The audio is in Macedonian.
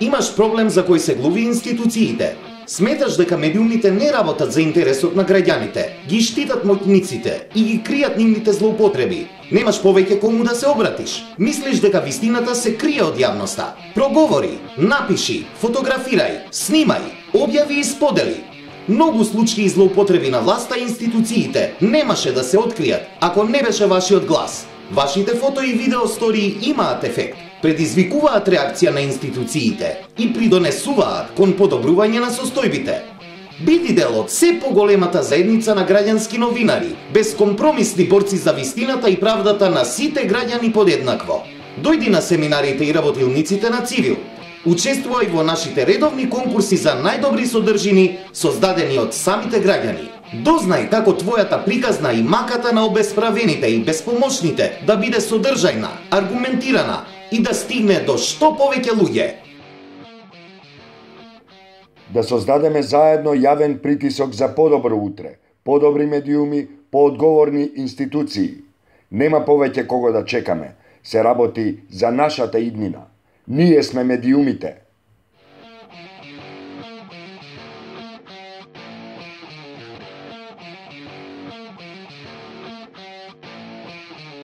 Имаш проблем за кој се глуви институциите. Сметаш дека медиумите не работат за интересот на граѓаните, ги штитат моќниците и ги кријат нивните злоупотреби. Немаш повеќе кому да се обратиш. Мислиш дека вистината се крие од јавноста. Проговори, напиши, фотографирај, снимај, објави и сподели. Многу случаи злоупотреби на власта и институциите немаше да се откријат ако не беше вашиот глас. Вашите фото и видео стории имаат ефект, предизвикуваат реакција на институциите и придонесуваат кон подобрување на состојбите. Биди дел од се поголемата заедница на граѓански новинари, безкомпромисни борци за вистината и правдата на сите граѓани подеднакво. Дојди на семинарите и работилниците на Цивил. Учествувај во нашите редовни конкурси за најдобри содржини, создадени од самите граѓани. Дознај како твојата приказна и маката на обесправените и безпомошните да биде содржајна, аргументирана и да стигне до што повеќе луѓе. Да создадеме заедно јавен притисок за подобро утре, подобри медиуми, поодговорни институции. Нема повеќе кого да чекаме, се работи за нашата иднина. Ние сме медиумите.